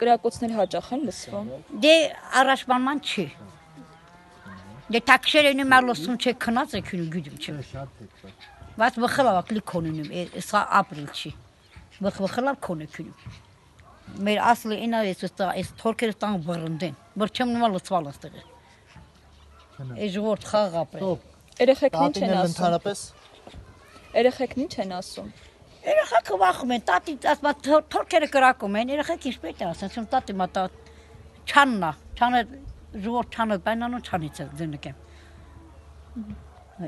կրակոցներ հաճախ են լսվում։ Դե առաջվանման չի։ Դե տաքշերենի մալոսում չէ քնած է քունի գյուդում չէ։ Բայց վխլավա կլիկոնինում սա ապրիլ չի։ Վխլավ կոնը քունի։ Մեր ասլի ինա էս թորքերը տան բռնդեն։ Բրչեմ նոմա լծվալ աստեղ։ Էս ժողովուրդ խաղ ապրել։ Երեխեքն ինչ են ասում։ Ընդհանրապես Երեխեքն ինչ են ասում։ Երեխեքը վախում են, տատի ասма թորքերը կրակում են, երեխեք ինչպես է ասում, տատի մատա չաննա, չանը ժողովուրդ չանը բանանուն չանից է ձնկեմ։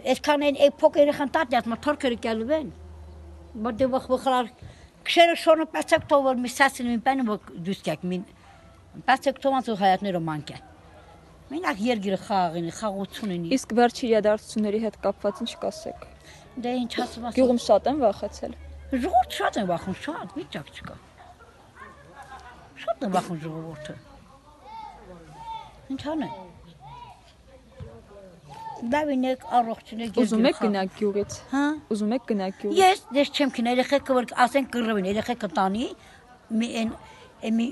Այսքան են փոք երեխան տատի ասма թորքերը կալու են։ Բայց վախվախար քշերը շոնը պացակ տովոր մի սասին մի բանը դուսկակ մին պացակ տոմանց ու հայատները մանկա։ Մենակ երգիրը խաղին, խաղությունին։ Իսկ վերջի իրադարձությունների հետ կապված ինչ կասեք։ Դե ինչ ասում ասում։ Գյուղում շատ են վախեցել։ Ժողովուրդ շատ են վախում, շատ վիճակ չկա։ Շատ են վախում ժողովուրդը։ Ինչ անեն։ Դավինեք առողջունեք Ուզում եք գնաք գյուղից։ Հա։ Ուզում եք գնաք գյուղից։ Ես դες չեմ քին երեխեքը որ ասեն կռվին, երեխեքը տանի մի մի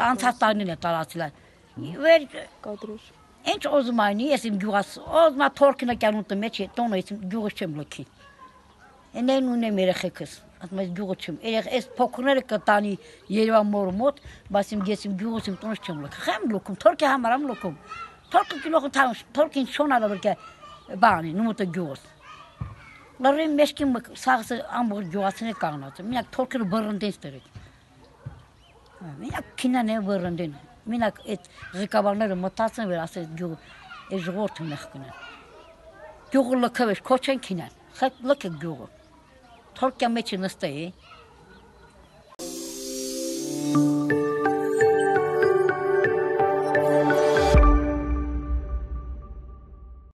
անցած տարին է տարածել։ Վեր Կադրուր։ ինչ ուզում այնի, ես իմ գյուղս, ոզմա թորքինը կանուտը մեջ է, տոնը ես գյուղը չեմ լքի։ Էնեն ունեմ երեխեքս, ասում ես գյուղը չեմ։ Այս փոքրները կտանի Երևան մորու մոտ, բայց իմ ես իմ գյուղս իմ տոնս չեմ լքի։ Խեմ լքում, թորքի համար եմ լքում։ Թորքը գյուղը տան, թորքին շոնալը որ կա բանի, նումոտը գյուղս։ Լարին մեջքին սաղսը ամբողջ գյուղացին է կանգնած։ Մենակ թորքերը բռնդեն ստերեք։ Մենակ քինան է բռնդեն։ Մենակ այդ ղեկավարները մտածեն վեր ասես գյուղ է ժողովուրդը մեղ կնան։ Գյուղը լքվեց, քոչեն քինան։ Խեք լքը գյուղը։ Թորքյա մեջ նստե է։